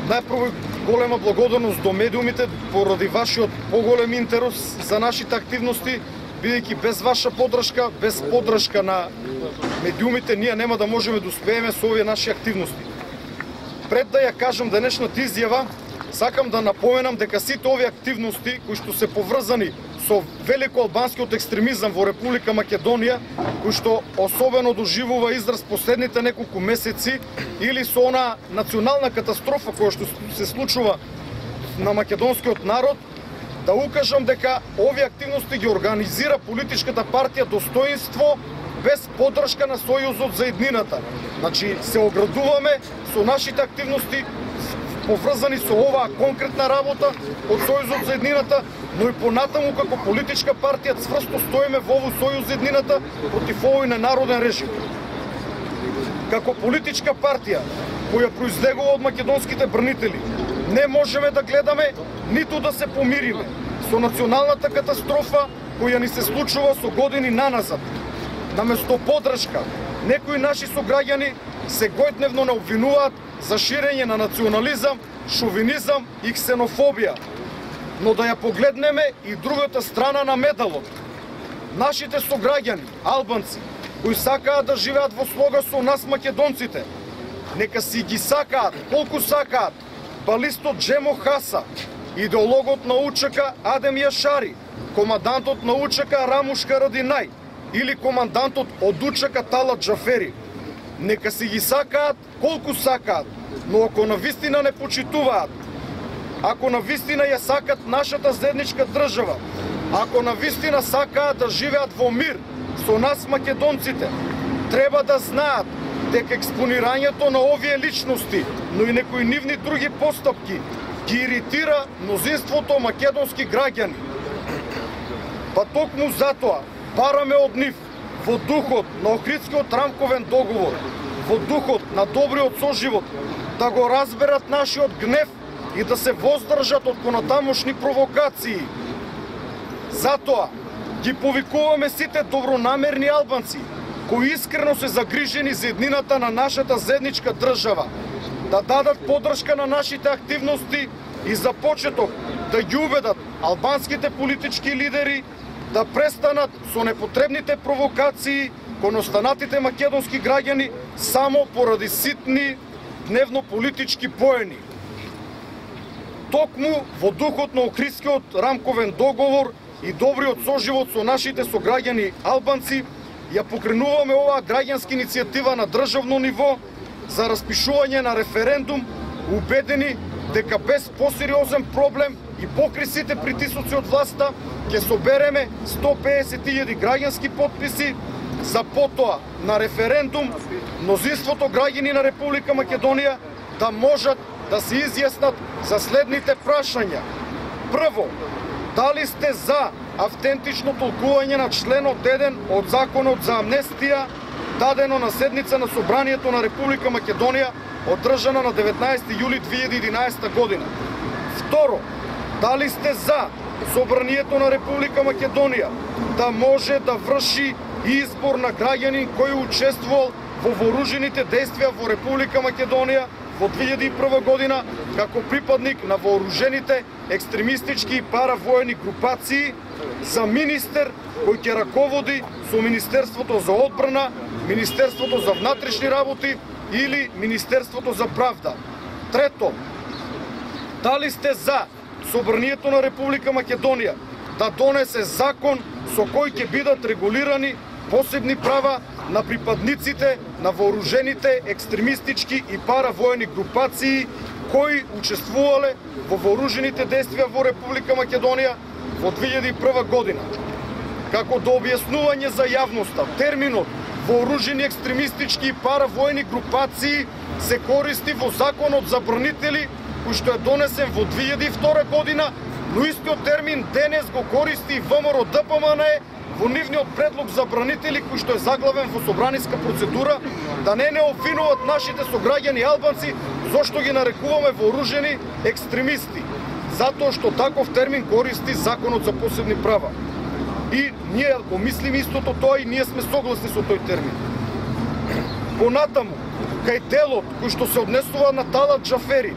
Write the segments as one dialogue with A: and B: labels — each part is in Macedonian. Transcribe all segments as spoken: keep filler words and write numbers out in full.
A: Најпрво голема благодарност до медиумите поради вашиот поголем интерес за нашите активности, бидејќи без ваша поддршка, без поддршка на медиумите, ние нема да можеме да успееме со овие наши активности. Пред да ја кажам денешната изјава, сакам да напоменам дека сите овие активности кои што се поврзани со великоалбанскиот екстремизам во Република Македонија, кој што особено доживува израз последните неколку месеци, или со она национална катастрофа која што се случува на македонскиот народ, да укажам дека овие активности ги организира политичката партија Достоинство без поддршка на Сојузот за иднината. Значи, се оградуваме со нашите активности поврзани со оваа конкретна работа од Сојузот за иднината, но и понатаму како политичка партија цврсто стоиме во овој Сојуз за иднината против овој ненароден режим. Како политичка партија која произлегува од македонските бранители, не можеме да гледаме ниту да се помириме со националната катастрофа која ни се случува со години наназад. Наместо поддршка, некои наши сограѓани сегојдневно не обвинуваат за ширење на национализам, шовинизам и ксенофобија. Но да ја погледнеме и другата страна на медалот. Нашите сограѓани, албанци, кои сакаат да живеат во слога со нас македонците, нека си ги сакаат, колку сакаат, балистот Джемо Хаса, идеологот на УЧК Адем Јашари, командантот на УЧК Рамуш Харадинај или командантот од УЧК Талат Джафери. Нека си ги сакаат колку сакаат, но ако навистина не почитуваат, ако навистина ја сакат нашата заедничка држава, ако навистина сакаат да живеат во мир со нас македонците, треба да знаат дека експонирањето на овие личности, но и некои нивни други постапки ги иритира мнозинството македонски граѓани. Па токму затоа бараме од нив во духот на Охридскиот рамковен договор, во духот на добриот соживот, да го разберат нашиот гнев и да се воздржат од понатамошни провокации. Затоа ги повикуваме сите добронамерни албанци кои искрено се загрижени за еднината на нашата заедничка држава, да дадат поддршка на нашите активности и за почеток да ги убедат албанските политички лидери да престанат со непотребните провокации кон останатите македонски граѓани само поради ситни дневно-политички поени. Токму во духот на Охридскиот рамковен договор и добриот соживот со нашите сограѓани албанци, ја покренуваме оваа граѓанска иницијатива на државно ниво за распишување на референдум, убедени дека без посериозен проблем и покри сите притисоци од власта ќе собереме сто педесет илјади граѓански потписи за потоа на референдум мнозинството граѓани на Република Македонија да можат да се изјаснат за следните прашања. Прво, дали сте за автентично толкување на членот еден од Законот за амнестија, дадено на седница на Собранието на Република Македонија, одржана на деветнаесети јули две илјади и единаесета година. Второ, дали сте за Собранието на Република Македонија да може да врши избор на граѓанин кој учествувал во вооружените действија во Република Македонија во две илјади и прва година како припадник на вооружените екстремистички и паравоени групации, за министер кој ќе раководи со Министерството за одбрана, Министерството за внатрешни работи или Министерството за правда. Трето, дали сте за Собранието на Република Македонија да донесе закон со кој ќе бидат регулирани посебни права на припадниците на вооружените екстремистички и паравоени групации кои учествувале во вооружените действија во Република Македонија во две илјади и прва година. Како до објаснување за јавноста, терминот вооружени екстремистички и паравоени групации се користи во Законот за бранители кој што е донесен во две илјади и втора година, но истиот термин денес го користи и ВМРО Д П М Н Е во нивниот предлог за бранители кој што е заглавен во собраниска процедура, да не не обвинуваат нашите сограѓани албанци зошто ги нарекуваме вооружени екстремисти, затоа што таков термин користи Законот за посебни права. И ние го мислиме истото тоа и ние сме согласни со тој термин. Понатаму, кај делот кој што се однесува на Талат Џафери,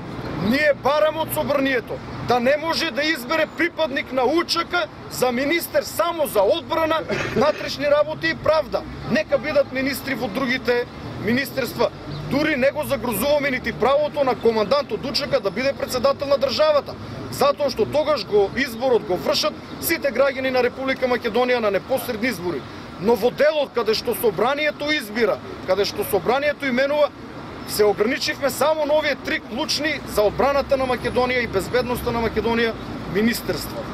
A: ние бараме од собранието да не може да избере припадник на УЧК за министер само за одбрана, внатрешни работи и правда. Нека бидат министри во другите министерства. Дури не го загрозуваме нити правото на командант од УЧК да биде председател на државата, затоа што тогаш го изборот го вршат сите граѓани на Република Македонија на непосредни избори. Но во делот каде што собранието избира, каде што собранието именува, се ограничивме само на овие три клучни за одбраната на Македонија и безбедноста на Македонија министерства.